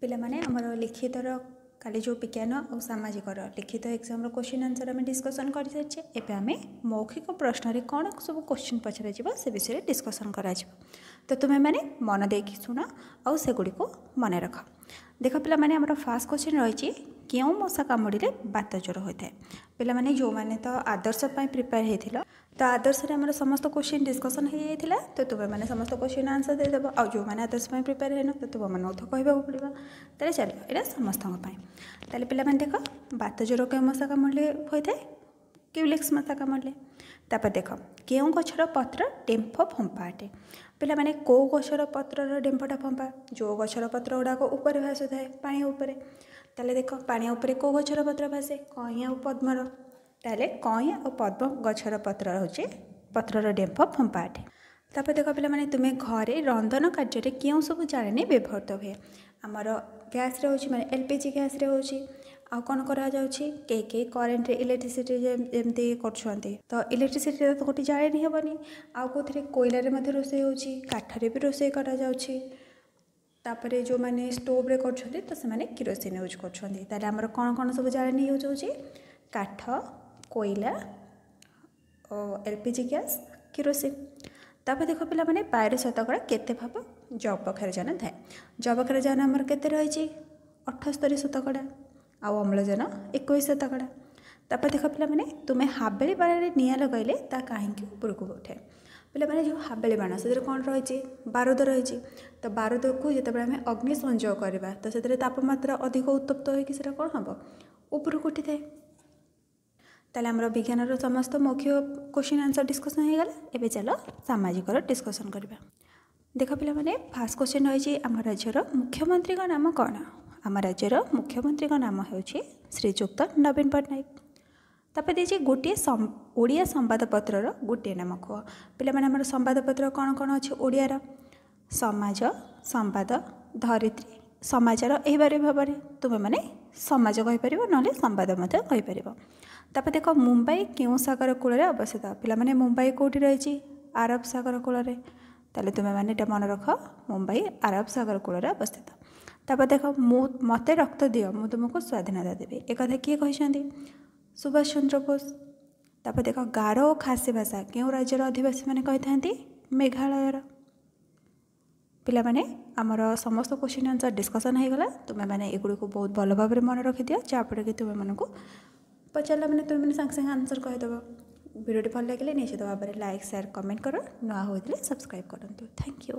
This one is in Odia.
ପିଲାମାନେ, ଆମର ଲିଖିତର କାଲି ଯେଉଁ ବିଜ୍ଞାନ ଆଉ ସାମାଜିକର ଲିଖିତ ଏକ୍ଜାମ୍ର କୋଶ୍ଚିନ୍ ଆନ୍ସର୍ ଆମେ ଡିସ୍କସନ୍ କରିସାରିଛେ। ଏବେ ଆମେ ମୌଖିକ ପ୍ରଶ୍ନରେ କ'ଣ ସବୁ କୋଶ୍ଚିନ୍ ପଚରାଯିବ, ସେ ବିଷୟରେ ଡିସ୍କସନ୍ କରାଯିବ। ତ ତୁମେମାନେ ମନ ଦେଇକି ଶୁଣ ଆଉ ସେଗୁଡ଼ିକୁ ମନେ ରଖ। ଦେଖ ପିଲାମାନେ, ଆମର ଫାର୍ଷ୍ଟ କୋଶ୍ଚିନ୍ ରହିଛି, କେଉଁ ମଶା କାମୁଡ଼ିଲେ ବାତ ଜ୍ୱର ହୋଇଥାଏ? ପିଲାମାନେ, ଯେଉଁମାନେ ତ ଆଦର୍ଶ ପାଇଁ ପ୍ରିପେୟାର ହେଇଥିଲ, ତ ଆଦର୍ଶରେ ଆମର ସମସ୍ତ କୋଶ୍ଚିନ୍ ଡିସ୍କସନ୍ ହେଇଯାଇଥିଲା, ତ ତୁମେମାନେ ସମସ୍ତ କୋଶ୍ଚିନ୍ ଆନ୍ସର୍ ଦେଇଦେବ। ଆଉ ଯେଉଁମାନେ ଆଦର୍ଶ ପାଇଁ ପ୍ରିପେୟାର ହେଇନ, ତ ତୁମମାନଙ୍କୁ ତ କହିବାକୁ ପଡ଼ିବ। ତାହେଲେ ଚାଲ, ଏଇଟା ସମସ୍ତଙ୍କ ପାଇଁ। ତାହେଲେ ପିଲାମାନେ ଦେଖ, ବାତ ଜ୍ୱର କେଉଁ ମଶା କାମୁଡ଼ିଲେ ହୋଇଥାଏ? କ୍ୟୁଲେକ୍ସ ମଶା କାମୁଡ଼ିଲେ। ତାପରେ ଦେଖ, କେଉଁ ଗଛର ପତ୍ର ଡେମ୍ଫ ଫମ୍ପା ଅଟେ? ପିଲାମାନେ, କେଉଁ ଗଛର ପତ୍ରର ଡେମ୍ଫଟା ଫମ୍ପା? ଯେଉଁ ଗଛର ପତ୍ର ଗୁଡ଼ାକ ଉପରେ ଭାସୁଥାଏ, ପାଣି ଉପରେ। ତାହେଲେ ଦେଖ, ପାଣି ଉପରେ କେଉଁ ଗଛର ପତ୍ର ଭାସେ? କଇଁଆ ଆଉ ପଦ୍ମର। ତାହେଲେ କଇଁଆ ଆଉ ପଦ୍ମ ଗଛର ପତ୍ର ହେଉଛି, ପତ୍ରର ଡେମ୍ଫ ଫମ୍ପା ଅଟେ। ତାପରେ ଦେଖ ପିଲାମାନେ, ତୁମେ ଘରେ ରନ୍ଧନ କାର୍ଯ୍ୟରେ କେଉଁ ସବୁ ଜାଳେଣୀ ବ୍ୟବହୃତ ହୁଏ? ଆମର ଗ୍ୟାସ୍ରେ ହେଉଛି, ମାନେ LPG ଗ୍ୟାସ୍ରେ ହେଉଛି। ଆଉ କ'ଣ କରାଯାଉଛି? କେହି କେହି କରେଣ୍ଟରେ, ଇଲେକ୍ଟ୍ରିସିଟି ଯେମିତି କରୁଛନ୍ତି। ତ ଇଲେକ୍ଟ୍ରିସିଟିରେ ତ ଗୋଟେ ଜାଳେଣୀ ହେବନି। ଆଉ କେଉଁଥିରେ? କୋଇଲାରେ ମଧ୍ୟ ରୋଷେଇ ହେଉଛି, କାଠରେ ବି ରୋଷେଇ କରାଯାଉଛି। ତାପରେ ଯେଉଁମାନେ ଷ୍ଟୋଭ୍ରେ କରୁଛନ୍ତି, ତ ସେମାନେ କିରୋସିନ ୟୁଜ୍ କରୁଛନ୍ତି। ତାହେଲେ ଆମର କ'ଣ କ'ଣ ସବୁ ଜାଳେଣୀ ୟୁଜ୍ ହେଉଛି? କାଠ, କୋଇଲା ଓ LPG gas, kerosene. ତାପରେ ଦେଖ ପିଲାମାନେ, ବାୟୁର ଶତକଡ଼ା କେତେ ଭାଗ ଯବକ୍ଷାରଜାନ ଥାଏ? ଯବକ୍ଷାରଜାନ ଆମର କେତେ ରହିଛି? 78 ଶତକଡ଼ା, ଆଉ ଅମ୍ଳଜାନ 21 ଶତକଡ଼ା। ତାପରେ ଦେଖ ପିଲାମାନେ, ତୁମେ ହାବେଳି ବାଣରେ ନିଆଁ ଲଗାଇଲେ ତା କାହିଁକି ଉପରକୁ ଉଠେ? ପିଲାମାନେ, ଯେଉଁ ହାବେଳି ବାଣ, ସେଥିରେ କ'ଣ ରହିଛି? ବାରୁଦ ରହିଛି। ତ ବାରୁଦକୁ ଯେତେବେଳେ ଆମେ ଅଗ୍ନି ସଂଯୋଗ କରିବା, ତ ସେଥିରେ ତାପମାତ୍ରା ଅଧିକ ଉତ୍ତପ୍ତ ହୋଇକି ସେଟା କ'ଣ ହେବ? ଉପରକୁ ଉଠିଥାଏ। ତାହେଲେ ଆମର ବିଜ୍ଞାନର ସମସ୍ତ ମୌଖିକ କୋଶ୍ଚିନ୍ ଆନ୍ସର୍ ଡିସ୍କସନ୍ ହେଇଗଲା। ଏବେ ଚାଲ ସାମାଜିକର ଡିସ୍କସନ୍ କରିବା। ଦେଖ ପିଲାମାନେ, ଫାର୍ଷ୍ଟ କୋଶ୍ଚିନ୍ ରହିଛି, ଆମ ରାଜ୍ୟର ମୁଖ୍ୟମନ୍ତ୍ରୀଙ୍କ ନାମ କ'ଣ? ଆମ ରାଜ୍ୟର ମୁଖ୍ୟମନ୍ତ୍ରୀଙ୍କ ନାମ ହେଉଛି ଶ୍ରୀଯୁକ୍ତ ନବୀନ ପଟ୍ଟନାୟକ। ତାପରେ ଦେଇଛି, ଗୋଟିଏ ଓଡ଼ିଆ ସମ୍ବାଦପତ୍ରର ଗୋଟିଏ ନାମ କୁହ। ପିଲାମାନେ, ଆମର ସମ୍ବାଦପତ୍ର କ'ଣ କ'ଣ ଅଛି ଓଡ଼ିଆର? ସମାଜ, ସମ୍ବାଦ, ଧରିତ୍ରୀ, ସମାଚାର। ଏହିପରି ଭାବରେ ତୁମେମାନେ ସମାଜ କହିପାରିବ, ନହେଲେ ସମ୍ବାଦ ମଧ୍ୟ କହିପାରିବ। ତାପରେ ଦେଖ, ମୁମ୍ବାଇ କେଉଁ ସାଗର କୂଳରେ ଅବସ୍ଥିତ? ପିଲାମାନେ, ମୁମ୍ବାଇ କେଉଁଠି ରହିଛି? ଆରବ ସାଗର କୂଳରେ। ତାହେଲେ ତୁମେମାନେ ଏଇଟା ମନେ ରଖ, ମୁମ୍ବାଇ ଆରବ ସାଗର କୂଳରେ ଅବସ୍ଥିତ। ତାପରେ ଦେଖ, ମୁଁ ମୋତେ ରକ୍ତ ଦିଅ, ମୁଁ ତୁମକୁ ସ୍ୱାଧୀନତା ଦେବି, ଏକଥା କିଏ କହିଛନ୍ତି? ସୁଭାଷ ଚନ୍ଦ୍ର ବୋଷ। ତାପରେ ଦେଖ, ଗାରୋ ଓ ଖାସି ଭାଷା କେଉଁ ରାଜ୍ୟର ଅଧିବାସୀମାନେ କହିଥାନ୍ତି? ମେଘାଳୟର। ପିଲାମାନେ, ଆମର ସମସ୍ତ କୋଶ୍ଚିନ୍ ଆନ୍ସର୍ ଡିସ୍କସନ୍ ହେଇଗଲା। ତୁମେମାନେ ଏଗୁଡ଼ିକୁ ବହୁତ ଭଲ ଭାବରେ ମନେ ରଖିଦିଅ, ଯାହାଫଳରେ କି ତୁମେମାନଙ୍କୁ ପଚାରିଲା ମାନେ ତୁମେମାନେ ସାଙ୍ଗେ ସାଙ୍ଗେ ଆନ୍ସର୍ କହିଦେବ। ଭିଡ଼ିଓଟି ଭଲ ଲାଗିଲେ ନିଶ୍ଚିତ ଭାବରେ ଲାଇକ୍, ସେୟାର, କମେଣ୍ଟ କର। ନୂଆ ହୋଇଥିଲେ ସବସ୍କ୍ରାଇବ୍ କରନ୍ତୁ। Thank you.